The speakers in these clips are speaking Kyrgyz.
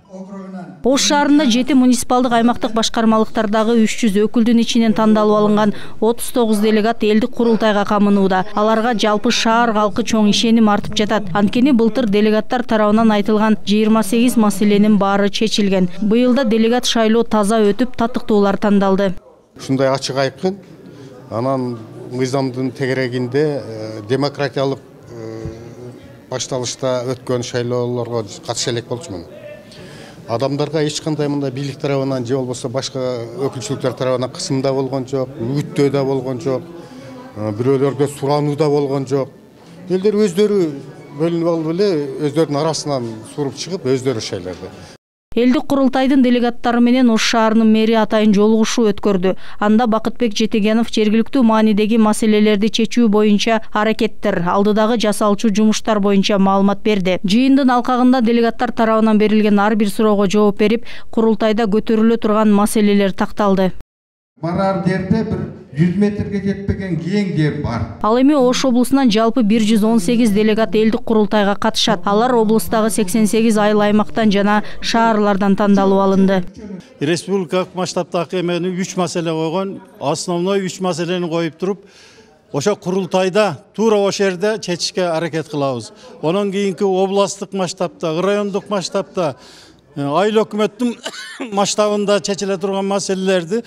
Ош шаарында 7 муниципалдык аймактык башкармалыктардагы 300 өкүлдүн ичинен тандалып алынган 39 делегат элдик курултайга камынууда. Аларга жалпы шаар калкы чоң ишеним артып жатат. Анткени былтыр делегаттар тарабынан айтылган 28 маселенин баары чечилген. Быйыл да делегат шайлоо таза өтүп, татыктуулар тандалды. Ушундай ачык айкын, анан мыйзамдын тегерегинде демократиялык башталышта өткөн шайлоолорго катыша элек болчумун. Адамдарга эч кандай мындай бийлик тарабынан же болбосо башка өкүлчүлүктөр тарабынан кысым да болгон жок, үгүттөө да болгон жок, бирөөлөргө сурануу да болгон жок. Элдер өздөрү бөлүнүп алып эле өздөрүнүн арасынан суруп чыгып өздөрү шайлады. Элдик курултайдын делегаттары менен Ош шаарынын мэри атайын жолугушуу өткөрдү. Анда Бакытбек Жетегенов жергиликтүү маанидеги маселелерди чечүү боюнча аракеттер, алдыдагы жасалчу жумуштар боюнча маалымат берди. Жыйындын алкагында делегаттар тарабынан берилген ар бир суроого жооп берип, курултайда көтөрүлө турган маселелер такталды. Барар жерде бир 100 метрге жетпеген кең жер бар. Ал эми Ош облусунан жалпы 118 делегат элдик курултайга катышат. Алар облустагы 88 айыл аймактан жана шаарлардан тандалып алынды. Республикалык масштабтагы эмени 3 маселе койгон, основной 3 маселени коюп туруп, ошо курултайда туура ошол жерде чечишке аракет кылабыз. Онон кийинки областтык масштабта, райондук масштабта, айыл өкмөттүн масштабында чечиле турган маселелерди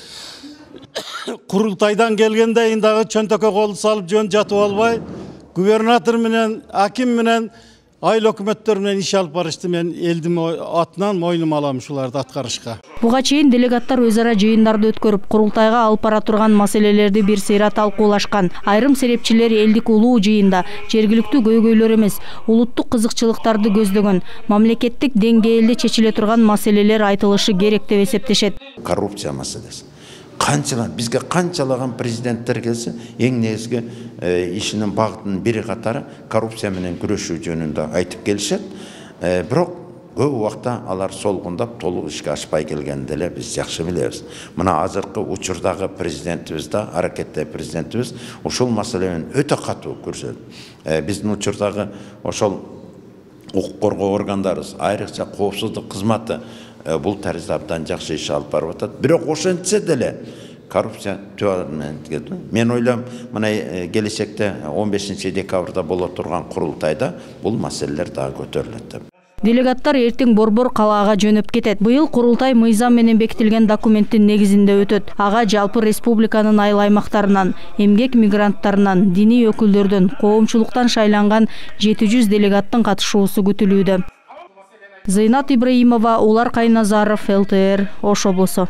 курултайдан келгенден дагы чөнтөккө кол салып жөн жатып албай, губернатор менен, аким менен, айыл өкмөттөр менен иш алып барышты. Мен элдин атынан мойнума алам ушуларды аткарышка. Буга чейин делегаттар өз ара жыйындарды өткөрүп, курултайга алып бара турган маселелерди бир сыйра талкуулашкан. Айрым серепчилер элдик улуу жыйында жергиликтүү көйгөйлөр эмес, улуттук кызыкчылыктарды көздөгөн, мамлекеттик деңгээлде чечиле турган маселелер айтылышы керек деп эсептешет. Коррупция маселеси. Бизге канчалаган президенттер келсе, эң негизги ишинин багытынын бири катары коррупция менен күрөшүү жөнүндө айтып келишет. Бирок көп убакта алар солгундап толук ишке ашпай келгенин деле биз жакшы билебиз. Мына азыркы учурдагы президентибиз да, аракетте президентибиз ушул маселени өтө катуу көрсөтөт. Биздин учурдагы ошол укук коргоо органдарыбыз, айрыкча коопсуздук кызматы бул таризде абдан жакшы иш алып барып атат. Бирок ошентсе деле коррупция түбүнөн. Мен ойлойм, мына келечекте 15 декабрда боло турган курултайда бул маселелер дагы көтөрүлөт деп. Делегаттар эртең Борбор калаага жөнөп кетет. Быйыл курултай мыйзам менен бекитилген документтин негизинде өтөт. Ага жалпы республиканын айыл аймактарынан, эмгек мигранттарынан, диний өкүлдөрдөн, коомчулуктан шайланган 700 делегаттын катышуусу күтүлүүдө. Зыйнат Ибраимова, Улар Кайназаров, ЛТР, Ош облусу.